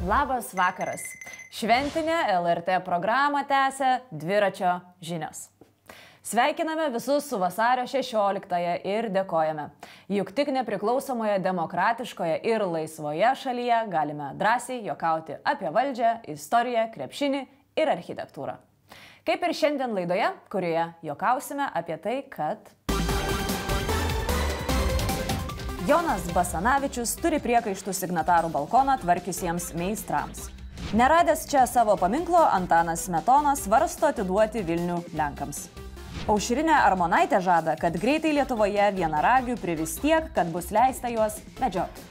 Labas vakaras. Šventinę LRT programą tęsia dviračio žinios. Sveikiname visus su vasario 16-ąją ir dėkojame. Juk tik nepriklausomoje, demokratiškoje ir laisvoje šalyje galime drąsiai juokauti apie valdžią, istoriją, krepšinį ir architektūrą. Kaip ir šiandien laidoje, kurioje juokausime apie tai, kad Jonas Basanavičius turi priekaištų signatarų balkoną tvarkiusiems meistrams. Neradęs čia savo paminklo, Antanas Smetonas svarsto atiduoti Vilnių Lenkams. Aušrinė Armonaitė žada, kad greitai Lietuvoje vienaragių privis tiek, kad bus leista juos medžioti.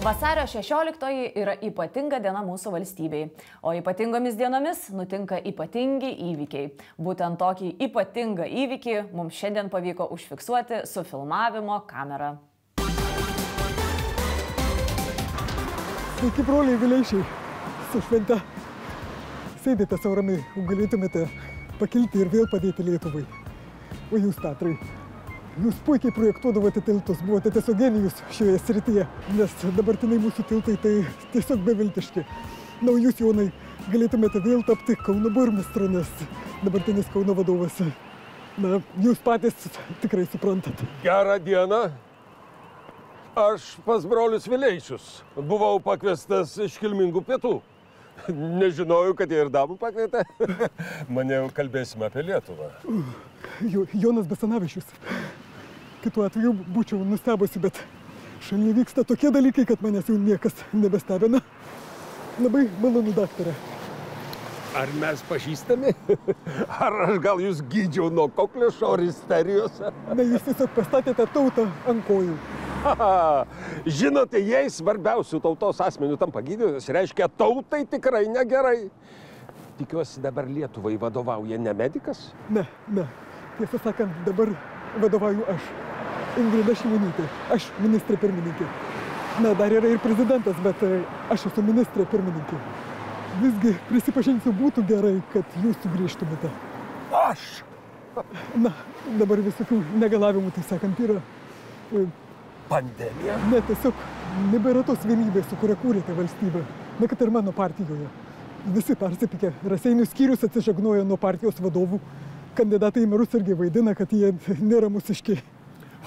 Vasario 16-oji yra ypatinga diena mūsų valstybei, o ypatingomis dienomis nutinka ypatingi įvykiai. Būtent tokį ypatingą įvykį mums šiandien pavyko užfiksuoti su filmavimo kamera. Sveiki, broliai Vileišiai, su švente. Sėdite sau ramiai, galėtumėte pakilti ir vėl padėti Lietuvai. O jūs, Petrai, jūs puikiai projektuodavote tiltus, buvote tiesiog genijus šioje srityje, nes dabartiniai mūsų tiltai tai tiesiog beviltiški. Na, jūs, Jonai, galėtumėte vėl tapti Kauno burmistru, nes dabartinis Kauno vadovas, na, jūs patys tikrai suprantate. Gerą dieną. Aš pas brolius Vileišius buvau pakviestas iškilmingų pietų. Nežinojau, kad jie ir damų pakvietė. Maniau, kalbėsime apie Lietuvą. Jonas Basanavičius. Kitu atveju būčiau nustebusi, bet šalyje vyksta tokie dalykai, kad manęs jau niekas nebestebina. Labai malonu, daktarė. Ar mes pažįstami? Ar aš gal jūs gydžiau nuo kokliušo ar isterijos? Na, jūs tiesiog pastatėte tautą ant kojų. Žinote, jei svarbiausių tautos asmenių tampa gydytojas, reiškia tautai tikrai negerai. Tikiuosi, dabar Lietuvai vadovauja ne medikas? Ne. Tiesą sakant, dabar vadovauju aš. Ingrida Šimonytė. Aš ministrė pirmininkė. Na, dar yra ir prezidentas, bet aš esu ministrė pirmininkė. Visgi, prisipažinsiu, būtų gerai, kad jūs sugrįžtumėte. Aš? Na, dabar visokių negalavimų, tai sakant, yra... Pandemija? Ne, tiesiog nebėra tos vienybės, su kuria kūrėte valstybę. Na, kad ir mano partijoje. Visi persipykė. Raseinių skyrius atsižagnojo nuo partijos vadovų. Kandidatai į merus irgi vaidina, kad jie nėra mūsiškiai.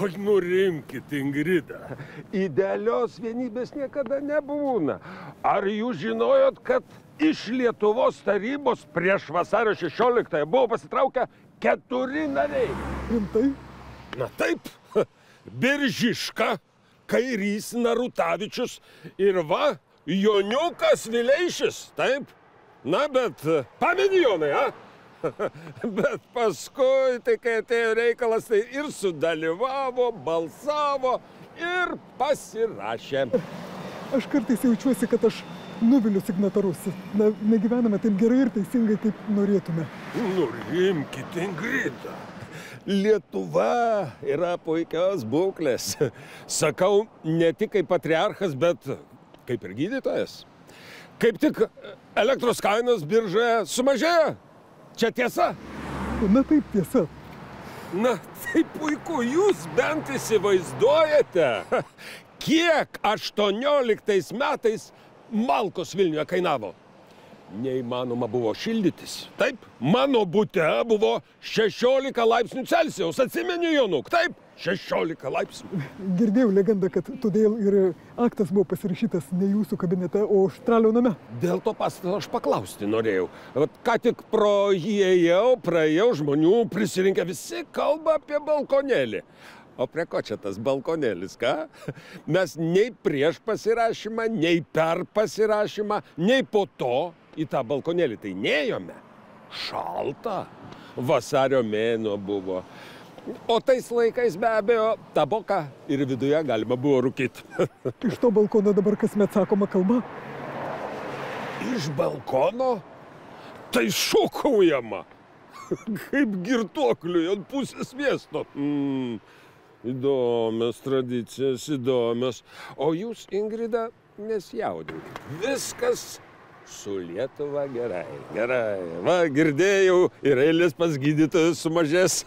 Oi, nurimkit, Ingrida. Idealios vienybės niekada nebūna. Ar jūs žinojot, kad iš Lietuvos tarybos prieš vasario 16-ąją buvo pasitraukę 4 nariai? Rimtai? Na taip. Biržiška, Kairys Narutavičius ir va, Joniukas Vileišis, taip? Na, bet pameni, Jonai, Bet paskui, tai kai atėjo reikalas, tai ir sudalyvavo, balsavo ir pasirašė. Aš kartais jaučiuosi, kad aš nuviliu signatarus. Na, negyvename taip gerai ir teisingai, kaip norėtume. Nurimkit, Ingrida. Lietuva yra puikios būklės. Sakau, ne tik kaip patriarchas, bet kaip ir gydytojas. Kaip tik elektros kainos biržoje sumažėjo. Čia tiesa? Na taip, tiesa. Na, tai puiku, jūs bent įsivaizduojate, kiek 18 metais malkos Vilniuje kainavo. Neįmanoma buvo šildytis. Taip, mano bute buvo 16 laipsnių Celsijaus. Atsimeni, Jonuk, taip, 16 laipsnių. Girdėjau legendą, kad todėl ir aktas buvo pasirašytas ne jūsų kabinete, o Štralio name. Dėl to pastato aš paklausti norėjau. Ką tik pro jį ėjau, praėjau, žmonių prisirinkę, visi kalba apie balkonėlį. O prie ko čia tas balkonėlis, ką? Mes nei prieš pasirašymą, nei per pasirašymą, nei po to į tą balkonėlį tai nėjome. Šalta. Vasario mėnuo buvo. O tais laikais be abejo taboką ir viduje galima buvo rūkyti. Iš to balkono dabar kasmet sakoma kalba? Iš balkono? Tai šokaujama. Kaip girtuokliui ant pusės miesto. Įdomios tradicijos, įdomios. O jūs, Ingrida, nesijaudinkit. Viskas su Lietuva gerai. Gerai. Va, girdėjau, ir eilės pas gydytojus sumažės.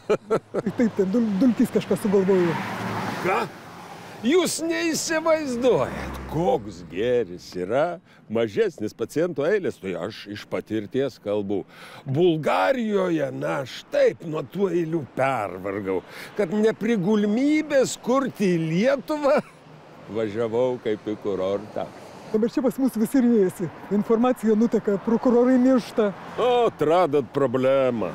Taip, ten dulkis kažką sugalvojo. Ką? Jūs neįsivaizduojat, koks gėris yra mažesnis pacientų eilės. Tai aš iš patirties kalbu. Bulgarijoje, na, aš taip nuo tų eilių pervargau, kad neprigulmybės kurti į Lietuvą važiavau kaip į kurortą. Dabar čia pas mus visi riejasi. Informacija nuteka, prokurorai miršta. O, atradot problemą.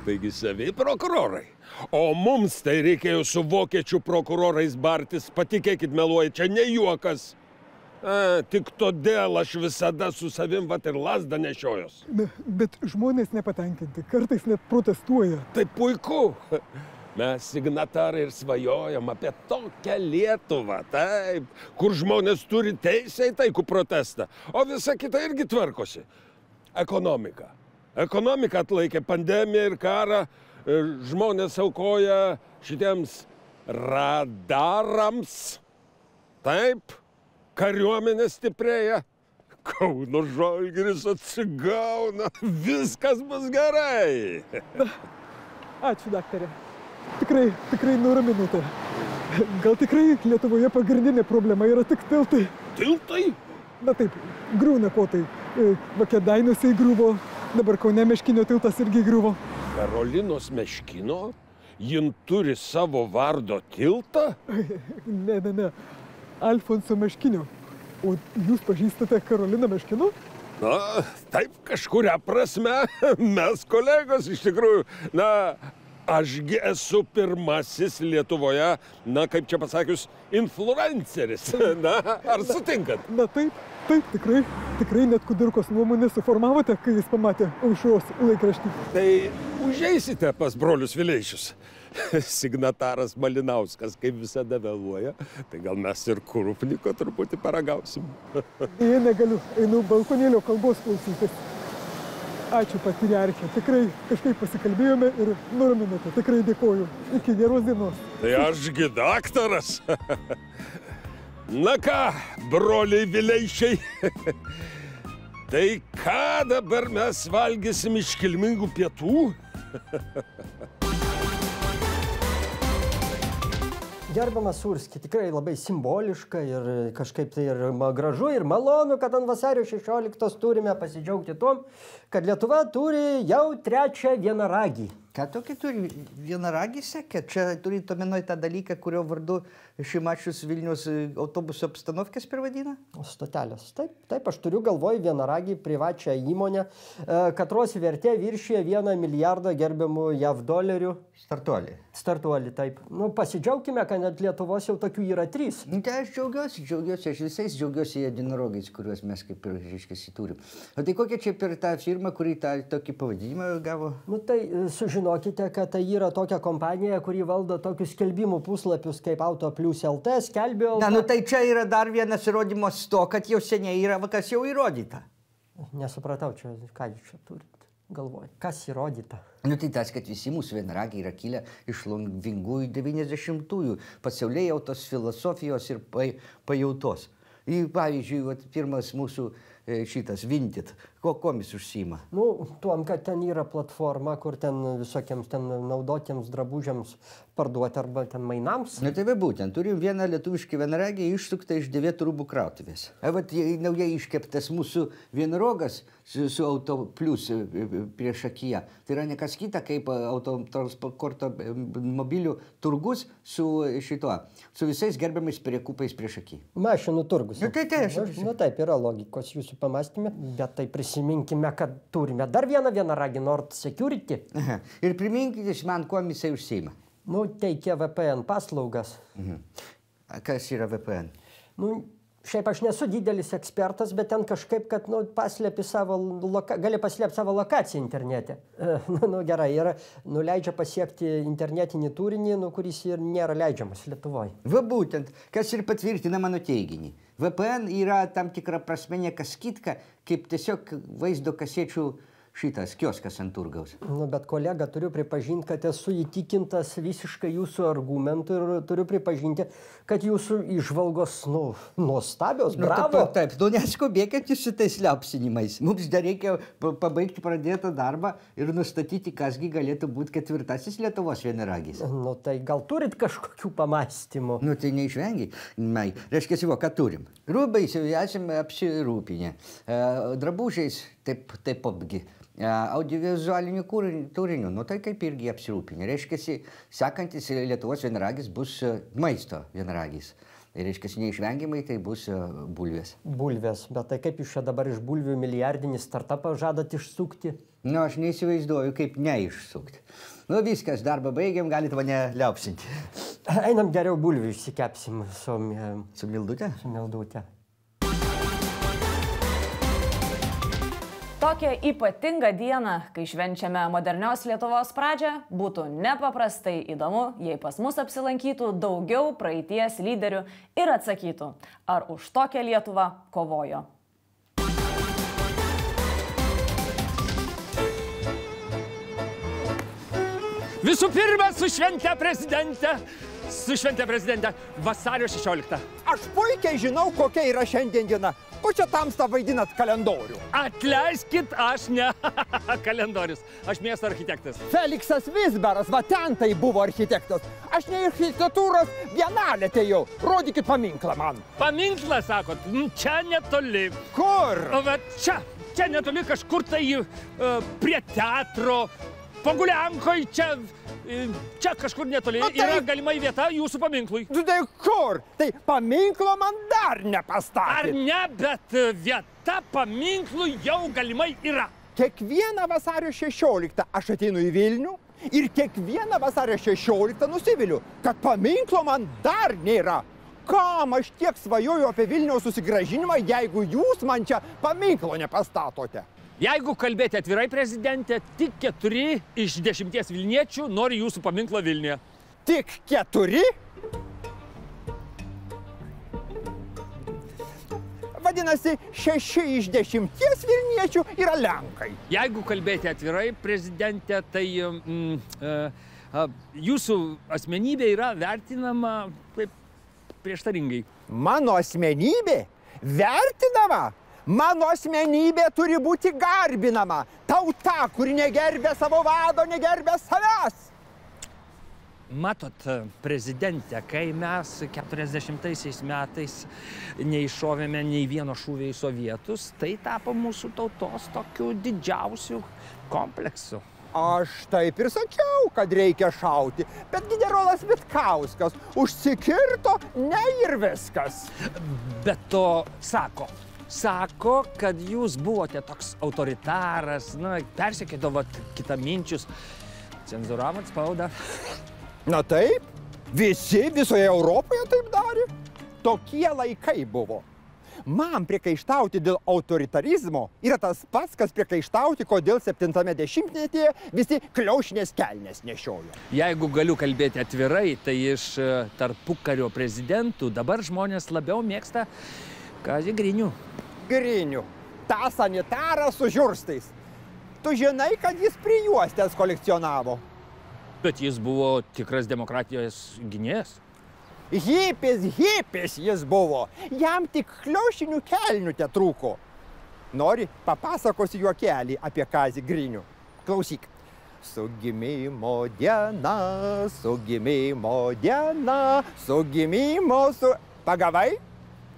Taigi savi prokurorai. O mums tai reikėjo su vokiečių prokurorais bartis. Patikėkit, meluoja, čia ne juokas. Tik todėl aš visada su savim vat ir lazdą nešiojos. Bet žmonės nepatenkinti, kartais net protestuoja. Tai puiku. Mes signatarai ir svajojam apie tokią Lietuvą, taip, kur žmonės turi teisę į taikų protestą, o visa kita irgi tvarkosi. Ekonomika. Ekonomika atlaikė pandemiją ir karą, žmonės aukoja šitiems radarams, taip, kariuomenė stiprėja, Kauno Žalgiris atsigauna, viskas bus gerai. Ačiū, daktarė. Tikrai nuraminote. Gal tikrai Lietuvoje pagrindinė problema yra tik tiltai? Tiltai? Na taip, griūna kotai. Va Kėdainiuose įgriuvo, dabar Kaune Meškinio tiltas irgi įgriuvo. Karolinos Meškino? Jin turi savo vardo tiltą? Ne. Alfonso Meškinio. O jūs pažįstate Karoliną Meškino? Na, taip, kažkuria prasme, mes kolegos iš tikrųjų. Na, ašgi esu pirmasis Lietuvoje, na, kaip čia pasakius, influenceris. Na, ar sutinkat? Na taip, tikrai net Kudirkos nuomonę suformavote, kai jis pamatė Aušros laikraštį. Tai užeisite pas brolius Vileišius. Signataras Malinauskas, kaip visada vėluoja, tai gal mes ir Krupniko truputį paragausim. Jei negaliu, einu balkonėlio kalbos klausytis. Ačiū patriarchė, tikrai kažkaip pasikalbėjome ir nuraminote, tikrai dėkoju. Iki geros dienos. Tai ašgi daktaras. Na ką, broliai Vileišiai, tai ką dabar mes valgysim iškilmingų pietų? Gerbiamas Surski, tikrai labai simboliška ir kažkaip tai ir gražu ir malonu, kad ant vasario 16 turime pasidžiaugti tuom, kad Lietuva turi jau trečią vienaragį. Ką tokį turi vienaragį sekė? Čia turi omenyje tą dalyką, kurio vardu Šimašius Vilnius autobusų apstanovkės pervadina? Stotelės. Taip, aš turiu galvoj vienaragį privačią įmonę, katros vertė viršyje 1 milijardą gerbiamų JAV dolerių. Startuolį, taip. Nu, pasidžiaugkime, kad net Lietuvos jau tokių yra 3. Tai aš džiaugiuosi, aš visais džiaugiuosi jedinarogais, kuriuos mes kaip ir, reiškia, turim. O tai kokia čia per tą firmą, kuri tą tokį pavadinimą gavo? Nu, tai sužinokite, kad tai yra tokia kompanija, kuri valdo tokius skelbimų puslapius kaip Autoplius LT, skelbio... Na, nu tai čia yra dar vienas įrodymas to, kad jau seniai yra, kas jau įrodyta. Nesupratau, čia, ką jūs čia turit galvoj. Kas įrodyta? Nu tai tas, kad visi mūsų vienaragiai yra kilę iš longvingųjų 90-ųjų, pasaulėjautos filosofijos ir pajautos. Pavyzdžiui, pirmas mūsų šitas Vinted, komis užsiima? Nu, tuom, kad ten yra platforma, kur ten visokiems ten naudotiems drabužiams parduoti arba ten mainams. Na tai būtent, turim vieną lietuvišką vienaragį išsuktą iš Dėvėtų rūbų krautuvės. Vat naujai iškeptas mūsų vienrogas su Autoplius prieš akiją. Tai yra ne kas kita, kaip autotransporto mobilių turgus su visais gerbiamais priekupais prieš akį. Mašinų turgus. Nu tai aš. Nu taip, yra logikos jūsų pamastymė, bet tai prisiminkime, kad turime dar vienaragį Nord Security. Aha. Ir priminkite man, kuo jisai užsiima. Nu, teikia VPN paslaugas. Kas yra VPN? Nu, šiaip aš nesu didelis ekspertas, bet ten kažkaip, kad gali paslėpti savo lokaciją internete. Nu, gerai, ir leidžia pasiekti internetinį turinį, kuris ir nėra leidžiamas Lietuvoje. Va būtent, kas ir patvirtina mano teiginį. VPN yra tam tikra prasme ne kas kitka, kaip tiesiog vaizdo kasečių šitas kioskas ant turgaus. Nu, bet kolega, turiu pripažinti, kad esu įtikintas visiškai jūsų argumentų ir turiu pripažinti, kad jūsų įžvalgos, nuostabios, bravo. Taip, neskubėkit su tais liaupsinimais. Mums dar reikia pabaigti pradėtą darbą ir nustatyti, kasgi galėtų būti ketvirtasis Lietuvos vienaragis. Nu, tai gal turit kažkokių pamąstymų? Nu, tai neišvengiai. Reiškia, ką turim? Rūbais jau esame apsirūpinę. Drabužiais taip apgi. Audiovizualiniu turiniu, tai kaip irgi apsirūpinę. Reiškia, sekantis Lietuvos vienaragis bus maisto vienaragis. Tai reiškia, neišvengiamai tai bus bulvės. Bulvės, bet tai kaip jūs čia dabar iš bulvių milijardinį startupą žadat išsukti? Aš neįsivaizduoju, kaip neišsukti. Viskas, darbą baigiam, galite mane liaupsinti. Einam geriau bulvių išsikepsim su Mildute? Su Mildute. Tokią ypatingą dieną, kai švenčiame modernios Lietuvos pradžią, būtų nepaprastai įdomu, jei pas mus apsilankytų daugiau praeities lyderių ir atsakytų, ar už tokią Lietuvą kovojo. Visų pirma, su švente prezidente, vasario 16. Aš puikiai žinau, kokia yra šiandien diena. Ko čia tamsta vaidinat kalendorių? Atleiskit, aš ne kalendorius, aš miesto architektas. Feliksas Vizberas, va ten tai buvo architektas. Aš ne architektūros bienalę atėjau. Rodykit paminklą man. Paminklą, sakot? Čia netoli. Kur? Čia netoli kažkur tai prie teatro. Poguliankoj, čia kažkur netoli yra galimai vieta jūsų paminklui. Tai kur? Tai paminklo man dar nepastatė. Ar ne, bet vieta paminklui jau galimai yra. Kiekvieną vasario 16 aš ateinu į Vilnių ir kiekvieną vasario 16 nusiviliu, kad paminklo man dar nėra. Kam aš tiek svajoju apie Vilniaus susigrąžinimą, jeigu jūs man čia paminklo nepastatote? Jeigu kalbėti atvirai, prezidente, tik 4 iš 10 vilniečių nori jūsų paminklo Vilniuje. Tik 4? Vadinasi, 6 iš 10 vilniečių yra lenkai. Jeigu kalbėti atvirai, prezidente, tai jūsų asmenybė yra vertinama prieštaringai. Mano asmenybė? Vertinama? Mano asmenybė turi būti garbinama. Tauta, kuri negerbė savo vado, negerbė savęs. Matot, prezidente, kai mes 40 metais neiššovėme nei vieno šūvio į sovietus, tai tapo mūsų tautos tokiu didžiausiu kompleksu. Aš taip ir sakiau, kad reikia šauti, bet generolas Vitkauskas užsikirto, ne ir viskas. Bet to sako, kad jūs buvote toks autoritaras, persekėdavot kitaminčius, cenzūravot spaudą. Na taip, visi visoje Europoje taip darė. Tokie laikai buvo. Man priekaištauti dėl autoritarizmo yra tas pats, kas priekaištauti, kodėl 70-metyje visi kliaušinės kelnes nešiojo. Jeigu galiu kalbėti atvirai, tai iš tarpukario prezidentų dabar žmonės labiau mėgsta Kazį Grinių. Grinių. Ta sanitarą su žiurstais. Tu žinai, kad jis prijuostės kolekcionavo. Bet jis buvo tikras demokratijos gynėjas. Hipis jis buvo. Jam tik kliaušinių kelnių tetrūko. Nori, papasakosiu juokelį apie Kazį Grinių. Klausyk. Su gimimo diena, su gimimo diena, su gimimo su... Pagavai?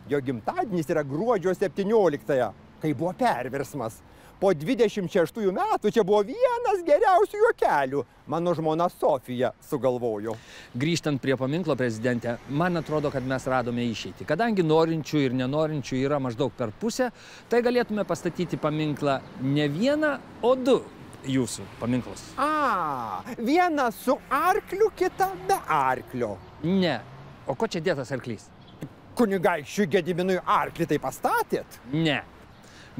Jo gimtadienis yra gruodžio 17-ąją, kai buvo perversmas. Po 26 metų čia buvo vienas geriausių juokelių. Mano žmona Sofija sugalvojo. Grįžtant prie paminklo, prezidente, man atrodo, kad mes radome išeitį. Kadangi norinčių ir nenorinčių yra maždaug per pusę, tai galėtume pastatyti paminklą ne vieną, o 2 jūsų paminklus. Vieną su arkliu, kitą be arklio. Ne. O ko čia dėtas arklys? Kunigaikščiui Gediminui arklį tai pastatėt? Ne.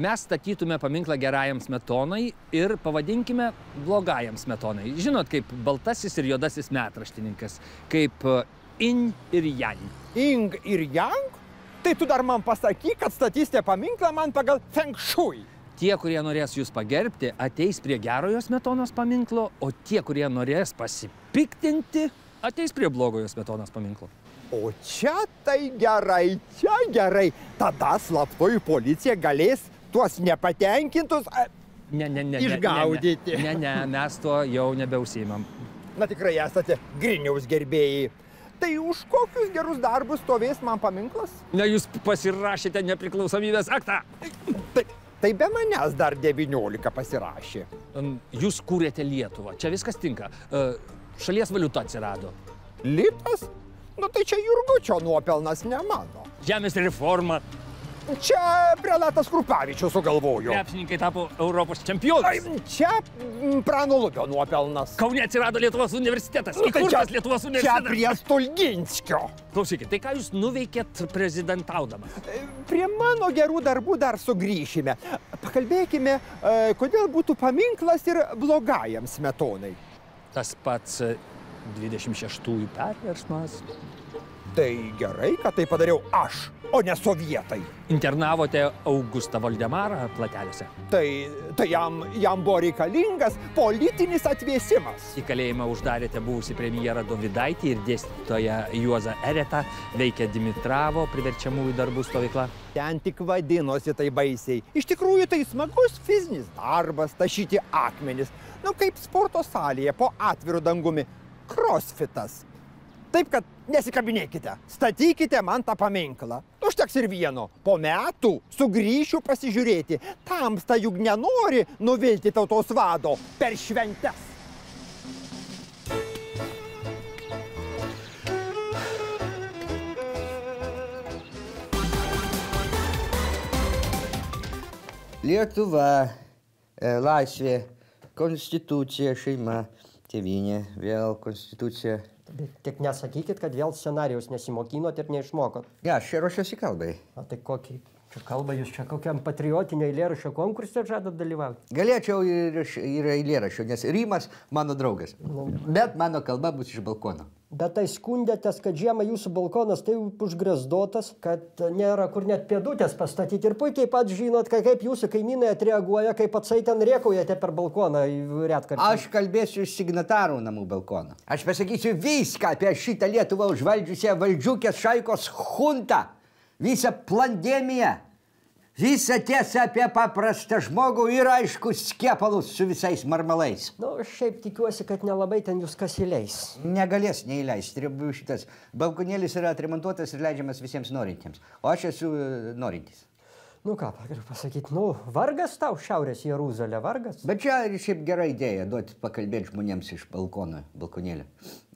Mes statytume paminklą gerajam Smetonai ir pavadinkime blogajam Smetonai. Žinot, kaip baltasis ir juodasis metraštininkas, kaip Yin ir Yang. Yin ir Yang? Tai tu dar man pasakyk, kad statysite paminklą man pagal Feng Shui. Tie, kurie norės jūs pagerbti, ateis prie gerojo Smetonos paminklo, o tie, kurie norės pasipiktinti, ateis prie blogojo Smetonos paminklo. O čia tai gerai, čia gerai. Tada slaptoji policija galės tuos nepatenkintus išgaudyti. Ne, mes tuo jau nebeužsiimam. Na tikrai esate Griniaus gerbėjai. Tai už kokius gerus darbus stovės man paminklas? Ne, jūs pasirašėte nepriklausomybės aktą. Tai be manęs dar 19 pasirašė. Jūs kūrėte Lietuvą. Čia viskas tinka. Šalies valiuta atsirado. Litas? Nu tai čia Jurgučio nuopelnas, ne mano. Žemės reforma. Čia prelatas Krupavičius sugalvojo. Krepšininkai tapo Europos čempionais. Čia Prano Lubio nuopelnas. Kaune atsirado Lietuvos universitetas. Įkurtas Lietuvos universitetas. Čia prie Stulginskio. Klausykit, tai ką jūs nuveikėt prezidentaudamas? Prie mano gerų darbų dar sugrįšime. Pakalbėkime, kodėl būtų paminklas ir blogajam Smetonai. Tas pats 26-ųjų perversmas. Tai gerai, kad tai padariau aš, o ne sovietai. Internavote Augustą Voldemarą Plateliuose. Tai jam buvo reikalingas politinis atvėsimas. Į kalėjimą uždarėte buvusį premjerą Dovydaitį ir dėstytoją Juozą Eretą, veikia Dimitravo priverčiamųjų darbų stovykla. Ten tik vadinosi tai baisiai. Iš tikrųjų tai smagus fizinis darbas tašyti akmenis. Nu kaip sporto salėje po atviru dangumi. Crossfitas. Taip, kad nesikabinėkite, statykite man tą paminklą. Užteks ir vieno. Po metų sugrįšiu pasižiūrėti. Tamsta juk nenori nuvilti tautos vado per šventes. Lietuva, laisvė, konstitucija, šeima, tėvynė, vėl konstitucija. Tik nesakykit, kad vėl scenarijaus nesimokinot ir neišmokot. Ne, aš čia ruošiuosi kalbai. O tai kokį čia kalbą jūs čia kokiam patriotinio eilėraščio konkurse žadat dalyvauti? Galėčiau ir eilėraščio, nes Rimas mano draugas. Bet mano kalba bus iš balkono. Bet tai skundėtės, kad žiemą jūsų balkonas tai užgrezdotas, kad nėra kur net pėdutės pastatyti. Ir puikiai pat žinot, kaip jūsų kaimynai atreaguoja, kaip patsai ten rėkaujate per balkoną retkartį. Aš kalbėsiu iš signatarų namų balkono. Aš pasakysiu viską apie šitą Lietuvą užvaldžiusią valdžiukės šaikos chuntą. Visą plandemiją. Visą tiesą apie paprastą žmogų ir aišku skiepalus su visais marmalais. Nu, šiaip tikiuosi, kad nelabai ten jūs kas įleis. Negalės neįleisti. Šitas balkonėlis yra atremontuotas ir leidžiamas visiems norintiems. O aš esu norintis. Nu ką, galiu pasakyti, vargas tau Šiaurės Jeruzalė, vargas. Bet čia šiaip gera idėja duoti pakalbėti žmonėms iš balkonėlio.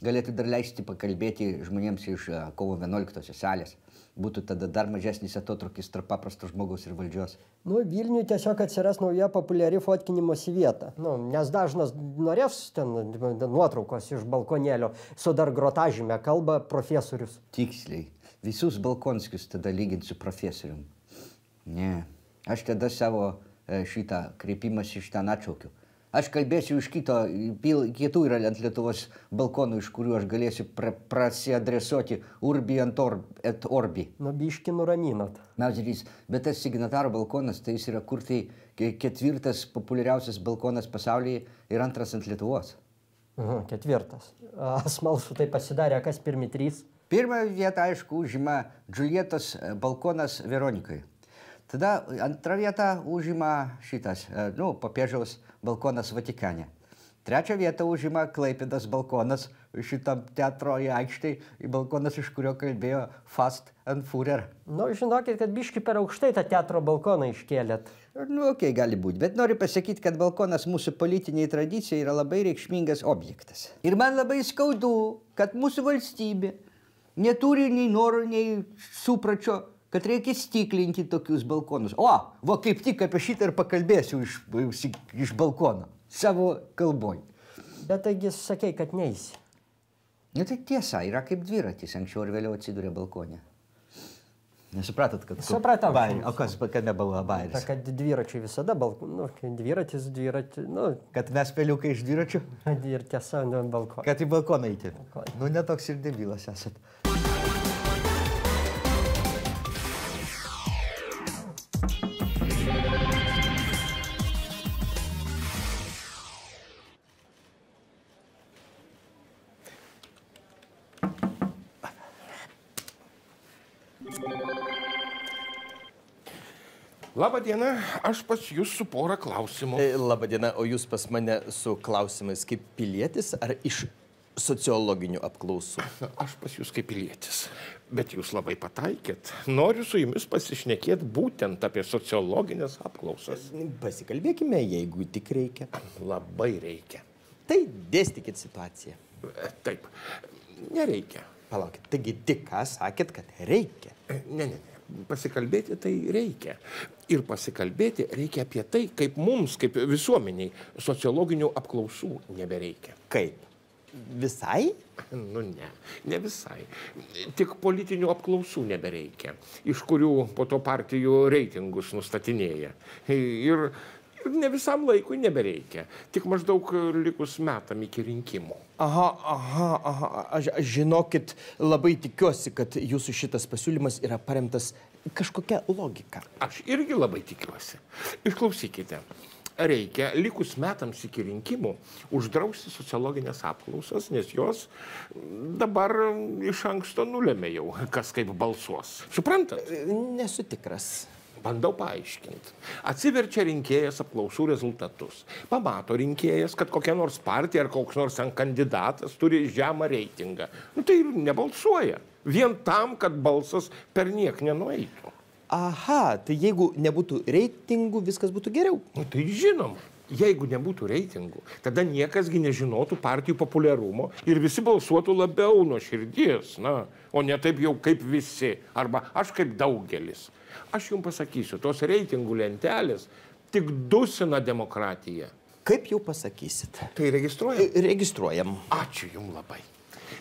Galėtų dar leisti pakalbėti žmonėms iš kovo 11 salės. Būtų tada dar mažesnis atotrukis tarp paprasto žmogaus ir valdžios. Vilniui tiesiog atsiras nauja populiari fotkinimosi vieta. Nes dažnas norės ten nuotraukos iš balkonėlio su dar grotažyme, kalba profesorius. Tiksliai. Visus balkonskius tada lyginti su profesorium. Ne. Aš tada savo šitą kreipimąsi iš ten atšaukiu. Aš kalbėsiu iš kitų yra ant Lietuvos balkonų, iš kurių aš galėsiu prasiadresuoti urbi et orbi. Biški nuraminot. Bet tas signataro balkonas, tai jis yra kur tai 4. populiariausias balkonas pasaulyje ir 2 ant Lietuvos. 4. Smalsu tai pasidarė, kas pirmi 3? Pirmą vietą, aišku, užima Džiuljetos balkonas Veronikai. Tada antrą vietą užima šitas, Popiežiaus balkonas Vatikane. Trečią vietą užima Klaipėdos balkonas šitam teatro aikštėj, balkonas, iš kurio kalbėjo Fast and Führer. Žinokit, kad biški per aukštai tą teatro balkoną iškėlėt. Okei, gali būti, bet noriu pasakyti, kad balkonas mūsų politiniai tradicijai yra labai reikšmingas objektas. Ir man labai skaudu, kad mūsų valstybė neturi nei noro, nei supračio, kad reikia stiklinti tokius balkonus. Kaip tik apie šitą ir pakalbėsiu iš balkono, savo kalboj. Bet taigi sakei, kad neisi. Tai tiesa, yra kaip dviratis, anksčiau ir vėliau atsiduria balkonė. Nesupratot, kad... Supratau. O kas, kad nebuvo bairis? Kad dviračiai visada dviratis, Kad mes peliukai iš dviračių? Ir tiesa, balkoną. Kad į balkoną eiti. Netoks ir debilas esat. Labadiena, aš pas jūs su pora klausimų. Labadiena, o jūs pas mane su klausimais kaip pilietis ar iš sociologinių apklausų? Aš pas jūs kaip pilietis, bet jūs labai pataikėt. Noriu su jumis pasišnekėti būtent apie sociologinės apklausas. Pasikalbėkime, jeigu tik reikia. Labai reikia. Tai dėstykit situaciją. Taip, nereikia. Palaukit, taigi tik ką sakėt, kad reikia? Ne. Pasikalbėti tai reikia. Ir pasikalbėti reikia apie tai, kaip mums, kaip visuomeniai, sociologinių apklausų nebereikia. Kaip? Visai? Nu ne visai. Tik politinių apklausų nebereikia, iš kurių po to partijų reitingus nustatinėja. Ir ne visam laikui nebereikia, tik maždaug likus metam iki rinkimų. Aš žinokit, labai tikiuosi, kad jūsų šitas pasiūlymas yra paremtas kažkokia logika. Aš irgi labai tikiuosi. Išklausykite. Reikia likus metams iki rinkimų uždrausti sociologinės apklausas, nes jos dabar iš anksto nulėmė jau, kas kaip balsuos. Suprantat? Nesu tikras. Bandau paaiškinti. Atsiverčia rinkėjas apklausų rezultatus. Pamato rinkėjas, kad kokia nors partija ar koks nors kandidatas turi žemą reitingą. Nu, tai ir nebalsuoja. Vien tam, kad balsas per niek nenueitų. Aha, tai jeigu nebūtų reitingų, viskas būtų geriau. Nu, tai žinoma. Jeigu nebūtų reitingų, tada niekasgi nežinotų partijų populiarumo ir visi balsuotų labiau nuo širdies, o ne taip jau kaip visi, arba aš kaip daugelis. Aš jums pasakysiu, tos reitingų lentelės tik dusina demokratiją. Kaip jau pasakysit? Tai registruojam? Registruojam. Ačiū jums labai.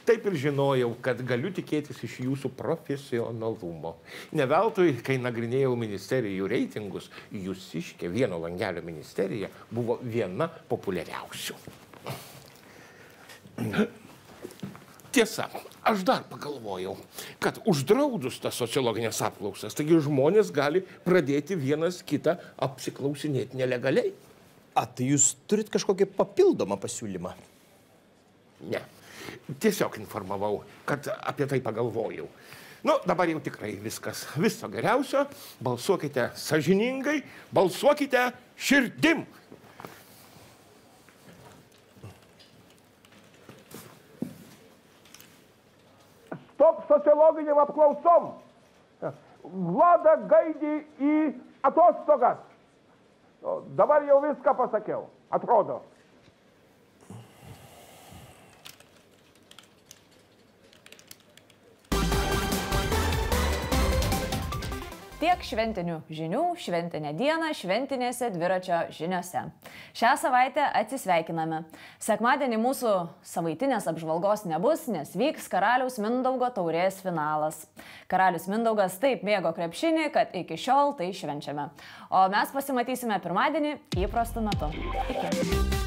Taip ir žinojau, kad galiu tikėtis iš jūsų profesionalumo. Ne veltui, kai nagrinėjau ministerijų reitingus, Jūsiškė vieno langelio ministerija buvo viena populiariausių. Tiesa, aš dar pagalvojau, kad uždraudus tas sociologinės apklausas, taigi žmonės gali pradėti vienas kitą apsiklausinėti nelegaliai. Tai jūs turit kažkokį papildomą pasiūlymą? Ne. Tiesiog informavau, kad apie tai pagalvojau. Nu, dabar jau tikrai viskas. Viso geriausio. Balsuokite sąžiningai, balsuokite širdim. Stop sociologiniam apklausom. Vlada gaidį į atostogas. Dabar jau viską pasakiau. Atrodo. Tiek šventinių žinių, šventinę dieną, šventinėse dviračio žiniose. Šią savaitę atsisveikiname. Sekmadienį mūsų savaitinės apžvalgos nebus, nes vyks Karaliaus Mindaugo taurės finalas. Karalius Mindaugas taip mėgo krepšinį, kad iki šiol tai švenčiame. O mes pasimatysime pirmadienį įprastu metu. Iki.